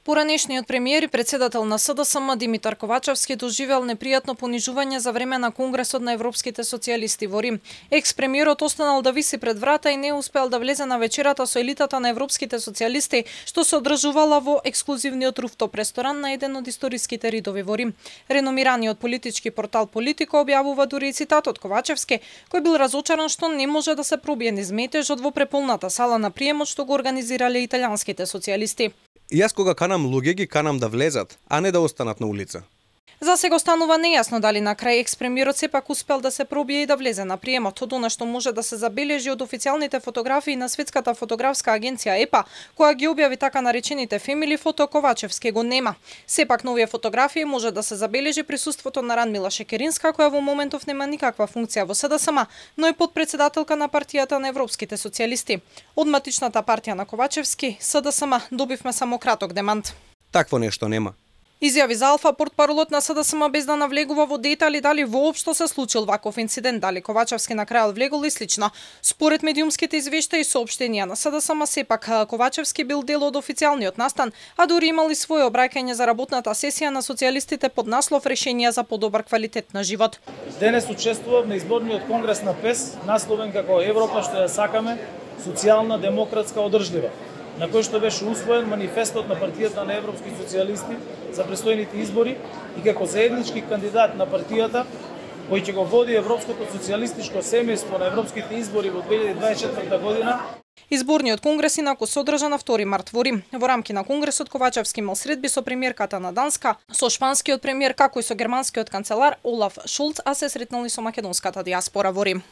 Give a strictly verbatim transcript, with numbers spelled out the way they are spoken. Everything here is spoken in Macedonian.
Поранешниот премиер и председател на СДСМ Димитар Ковачевски доживел непријатно понижување за време на Конгресот на европските социјалисти во Рим. Екс-премиерот останал да виси пред врата и не успел да влезе на вечерата со елитата на европските социјалисти, што се одржувала во ексклузивниот руфтоп ресторан на еден од историските ридови во Рим. Реномираниот политички портал Политико објавува дури и цитат од Ковачевски, кој бил разочаран што не може да се пробие низ метежот во преполната сала на приемот што го организирале италијанските социјалисти. Јас кога канам луѓе ги канам да влезат, а не да останат на улица. За сега останува нејасно дали на крај екс-премиерот сепак успел да се пробие и да влезе на приемот, од она што може да се забележи од официјалните фотографии на Светската фотографска агенција ЕПА, која ги објави така наречените Family Photo. Ковачевски го нема. Сепак на овие фотографии може да се забележи присуството на Радмила Шекеринска, која во моментов нема никаква функција во СДСМ, но е подпредседателка на партијата на европските социјалисти. Од матичната партија на Ковачевски, СДСМ, добивме само краток демант. Такво нешто нема. Изјави за Алфа портпаролот на СДСМ без да навлегува во детали дали воопшто се случил ваков инцидент, дали Ковачевски на крајот влегол и слично. Според медиумските извештаи и соопштенија на СДСМ, сепак Ковачевски бил дел од официјалниот настан, а дури имал и свое обраќање за работната сесија на социјалистите под наслов Решенија за подобар квалитет на живот. Денес учествував на изборниот конгрес на ПЕС, насловен како Европа што ја сакаме, социјална, демократска, одржлива, на кој што беше усвоен манифестот на партијата на европски социјалисти за престојните избори и како заеднички кандидат на партијата кој ќе го води европското социјалистичко семејство на европските избори во две илјади дваесет и четврта година. Изборниот конгрес инаку се одржа на втори март во Рим. Во рамки на конгресот Ковачевски имал средби со премиерката на Данска, со шпанскиот премиер, како и со германскиот канцелар Олаф Шолц, а се сретнали со македонската дијаспора во Рим.